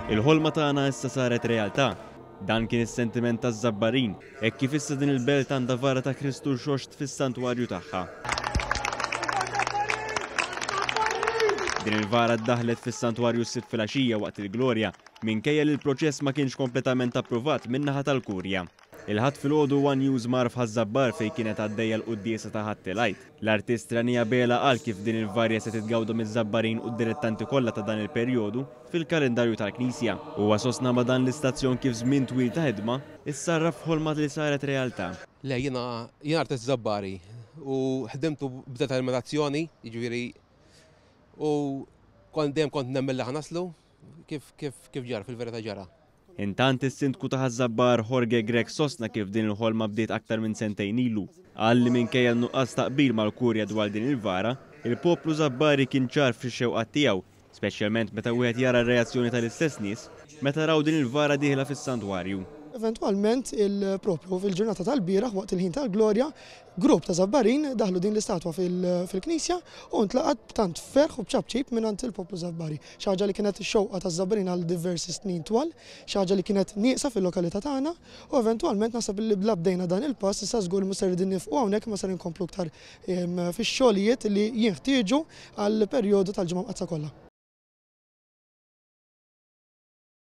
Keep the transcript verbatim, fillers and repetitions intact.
Il-ħolma tagħna issa saret realtà. Dan kien is-sentiment taż-Żabbarin, hekk kif issa din il-belt għandha vara ta' Kristu Rxoxt fis-santwarju tagħha. Din il-vara ddaħlet fis-santwarju s-Sibt filgħaxija waqt il-Glorja, minkejja li l-proċess ma kienx kompletament approvat min-naħa tal-Kurja. Il-Ħadd filgħodu One News mar f'Ħaż-Żabbar fejn kienet għaddejja l-quddiesa ta' Ħadd il-Għid. L-artist Rani Abela qal kif din il-varja se titgawda miż-Żabbarin u d-dilettanti kollha ta' dan il-perjodu fil-kalendarju tal-Knisja. Huwa sostna ma' dan l-istazzjon kif żmien twil ta' ħidma issarraf f'ħolma li saret realtà. Le, jiena jiena artist Żabbari u ħdimtu b'determinazzjoni, jiġifieri u kont dejjem kont nemmen li ħa naslu kif kif kif ġara fil-verità ġara. Intant is-Sindku ta' Ħaż-Żabbar Jorge Grech sostna kif din il-ħolma bdiet aktar minn sentejn ilu. Qal li minkejja n-nuqqas ta' qbil mal-Kurja dwar din il-vara, il-poplu Żabbari kien ċar fix-xewqat tiegħu, speċjalment meta wieħed jara r-reazzjoni tal-istess nies meta raw din il-vara dieħla fis-santwarju. Eventwalment il-propju fil-ġurnata tal-bieraħ waqt il-ħin tal-Glorja, grupp ta' Żabbarin daħlu din l-istatwa fil-knisja u ntlaqat b'tant ferħ u b'ċapċip mingħand il-poplu Żabbari. Xi ħaġa li kienet xewqa taż-Żabbarin għal diversi snin twal, xi ħaġa li kienet nieqsa fil-lokalità tagħna u eventwalment naħseb li bla bdejna dan il-pass issa żgur mhux ser nifqu hawnhekk ma ser inkomplu iktar fix-xogħlijiet li jinħtieġu għall-perjodu tal-Ġimgħa Mqaddsa kollha.